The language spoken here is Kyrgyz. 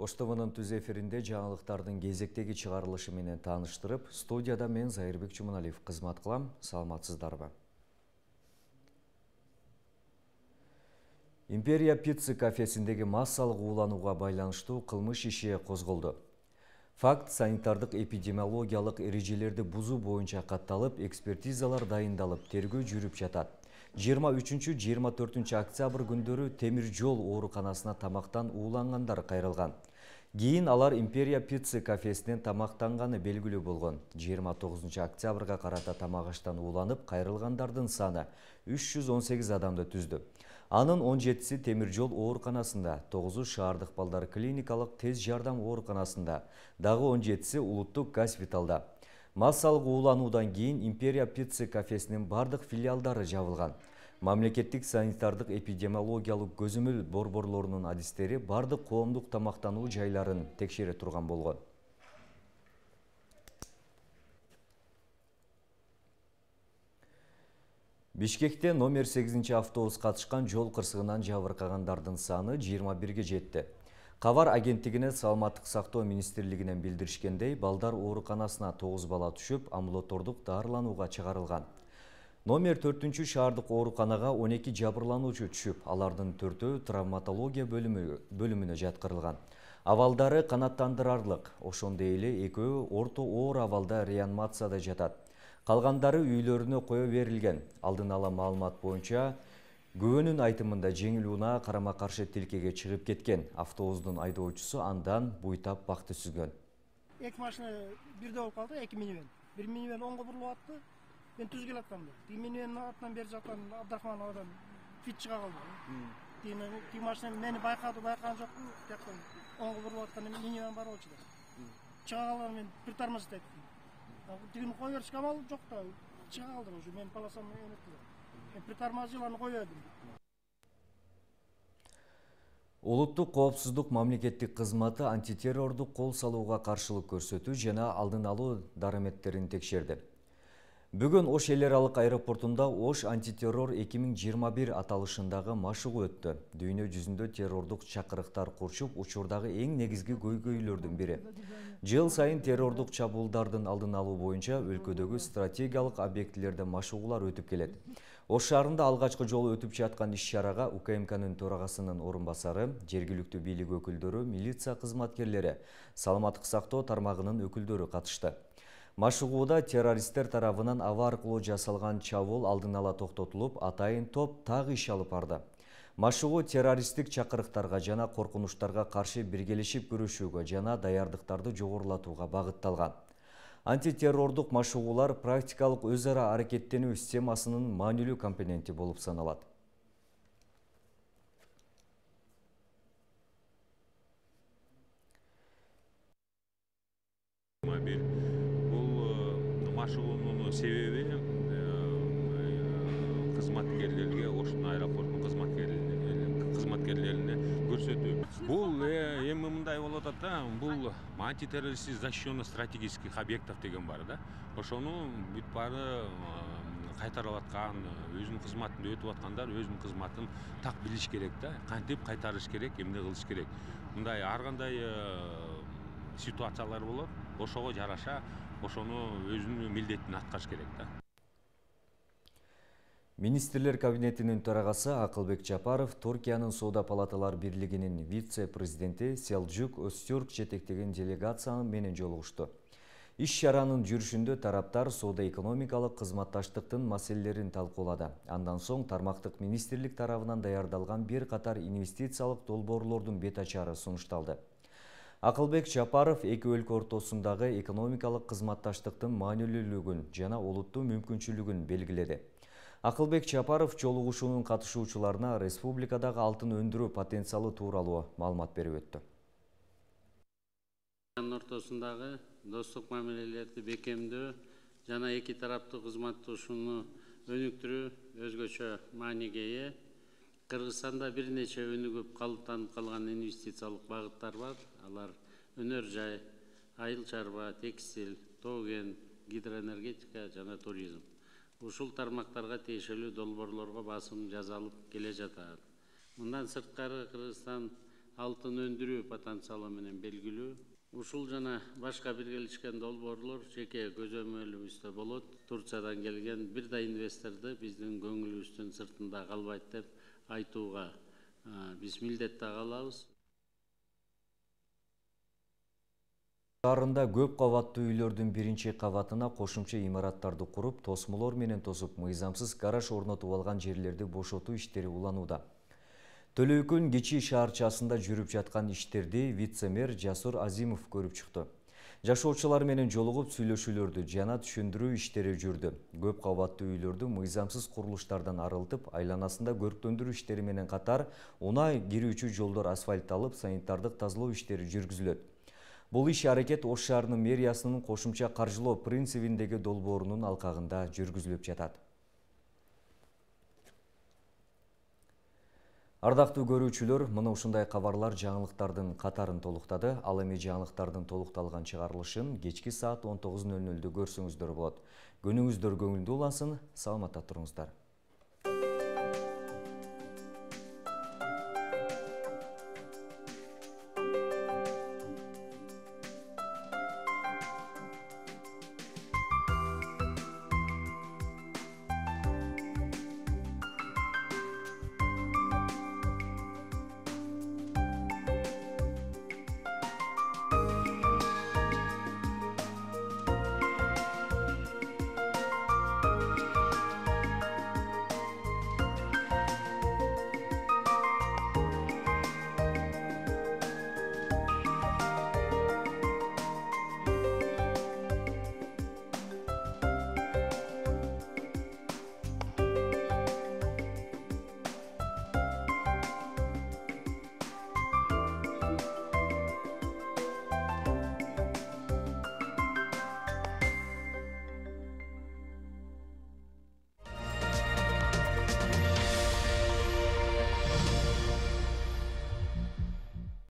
Ош ТВнын түз эфиринде жаңылыктардын кезектеги чыгарылышы менен тааныштырып, студияда мен Зайырбек Чумуналиев кызмат кылам. Саламатсыздарбы? Империя Пицца кафесиндеги массалык ууланууга байланыштуу кылмыш иши козголду. Факт санитардык эпидемиологиялык эрежелерди бузуу боюнча катталып, экспертизалар дайындалып, тергөө жүрүп жатат. 23-24 октябрь күндөрү темир жол ооруканасына тамактан уулангандар кайрылган. Кийин алар Империя Пицца кафесинен тамактанганы белгилүү болгон. 29 октябрга карата тамак аштан ууланып кайрылгандардын саны 318 адамды түздү. Анын 17си темир жол ооруканасында, 9-у шаардык балдар клиникалык тез жардам ооруканасында, дагы 17си улуттук госпиталда. Массалык уулануудан кийин Империя Пицца кафесинин бардык филиалдары жабылган. Мамлекеттик санитардык эпидемиологиялык көзөмөл борборлорунун адистери бардык коомдук тамактануу жайларын текшере турган болгон. Бишкекте номер 8 автобус катышкан жол кырсыгынан жабыркагандардын саны 21ге жетти. Кабар агенттигине Саламаттык сактоо министрлигинен билдиришкендей, балдар ооруканасына 9 бала түшүп, амбулатордук дарыланууга чыгарылган. Номер 4 шаардык ооруканага 12 жабырлануучу түшүп, алардын 4-өө травматология бөлүмүнө жаткырылган. Абалдары канааттандырарлык, ошондой эле 2-өө орто оор абалда реанимацияда жатат. Калгандары үйлөрүнө кое берилген. Алдын ала маалымат боюнча, күбөнүн айтымында жеңил унаа карама-каршы тилкеге чыгып кеткен. Автобустун айдоочусу андан буйтап бакты сүзгөн. Эки машина бирде болуп калды, эки минивэн. Бир минивэн оңго бурулуп атты. Мен түз келаткам. Минивэндин артынан бери жаткан Абдрахман одан фит чыга калды. Тиги машина мени байкаган жокмун. Жактан оңго бурулуп аткан минивэн бар болчу да. Чыга калган мен притормозить эттим. Тигини кое беришке амал жок да. Чыга калды уже мен полосамды эметти. Мен притормозил аны кое бердим. Улуттук коопсуздук мамлекеттик кызматы антитеррордук кол салууга каршылык көрсөтүү жана алдын алуу дараметтерин текшерди. Бүгүн Ош эл аралык аэропортунда Ош антитеррор 2021 аталышындагы машыгуу өттү. Дүйнө жүзүндө террордук чакырыктар курчуп, учурдагы эң негизги көйгөйлөрдүн бири. Жыл сайын террордук чабуулдардын алдын алуу боюнча өлкөдөгү стратегиялык объектилерде машыгуулар өтүп келет. Ош шаарында алгачкы жолу өтүп жаткан иш-чарага УКМКнын төрагасынын орун басары, жергиликтүү бийлик өкүлдөрү, милиция кызматкерлери, саламаттык сактоо тармагынын өкүлдөрү катышты. Машыгууда террористтер тарабынан аба аркылуу жасалган чабуул алдын ала токтотулуп, атайын топ так иш алып барды. Машыгуу террористтик чакырыктарга жана коркунучтарга каршы биргелешип күрөшүүгө жана даярдыктарды жогорулатууга багытталган. Антитеррордук машыгуулар практикалык өз ара аракеттенүү системасынын маанилүү компоненти болуп саналат. Машыгуунун себеби кызматкерлерге, Оштун аэропортунун кызматкерлерине көрсөтүү. Бул эми мындай болуп атат да, бул антитеррористтик защищенный стратегических объектов деген бар да. Ошону бүт баары кайтарып аткан, өзүнүн кызматында өтүп аткандар өзүнүн кызматын так билиш керек да. Кантип кайтарыш керек, эмне кылыш керек. Мындай ар кандай ситуациялар болот. Ошого жараша ошону өзүнүн милдетин аткарыш керек да. Министрлер кабинетинин төрагасы Акылбек Жапаров Туркиянын Соода палаталар бирлигинин вице-президенти Селжук Өзтүрк жетектеген делегация менен жолугушту. Иш-чаранын жүрүшүндө тараптар соода-экономикалык кызматташтыктын маселелерин талкуулады. Андан соң тармактык министрлик тарабынан даярдалган бир катар инвестициялык долбоорлордун бет ачары сунушталды. Акылбек Жапаров эки өлкө ортосундагы экономикалык кызматташтыктын маанилүүлүгүн жана олуттуу мүмкүнчүлүгүн белгиледи. Акылбек Жапаров жолугушуунун катышуучуларына республикадагы алтын өндүрүү потенциалы тууралуу маалымат берип өттү. Ортосундагы достук мамилелерди бекемдөө жана эки тараптуу кызматташууну өнүктүрүү өзгөчө мааниге ээ. Кыргызстанда бир нече өнүгүп калыптанып калган инвестициялык багыттар бар. Алар өнөр жай, айыл чарба, текстиль, тоо кен, гидроэнергетика жана туризм. Ушул тармактарга тиешелүү долбоорлорго басым жасалып келе жатат. Мындан сырткары Кыргызстан алтын өндүрүү потенциалы менен белгилүү. Ушул жана башка биргелешкен долбоорлор жеке көзөмөлүбүздө болот. Турциядан келген бир да инвесторду биздин көңүлүбүздүн сыртында калбайт деп айтууга биз милдеттүү калабыз. Шаарында көп кабаттуу үйлөрдүн биринчи кабатына кошумча имараттарды куруп, тосмолор менен тосуп, мыйзамсыз гараж орнотуп алган жерлерди бошотуу иштери уланууда. Төлөйкөн кичи шаарчасында жүрүп жаткан иштерди вице-мэр Жасур Азимов көрүп чыкты. Жашоочулар менен жолугуп сүйлөшүүлөрдү жана түшүндүрүү иштери жүрдү. Көп кабаттуу үйлөрдү мыйзамсыз курулуштардан арылтып, айланасында көрктөндүрүү иштери менен катар, унаа кирүүчү жолдор асфальтталып, санитардык тазалоо иштери жүргүзүлөт. Бул иш-аракет Ош шаарынын мэриясынын кошумча каржылоо принцибиндеги долбоорунун алкагында жүргүзүлүп жатат. Ардактуу көрүүчүлөр, мына ушундай кабарлар жаңылыктардын катарын толуктады. Ал эми жаңылыктардын толукталган чыгарылышын кечки саат 19:00 көрсөңүздөр болот. Күнүңүздөр көңүлдүү улансын, саламатта туруңуздар.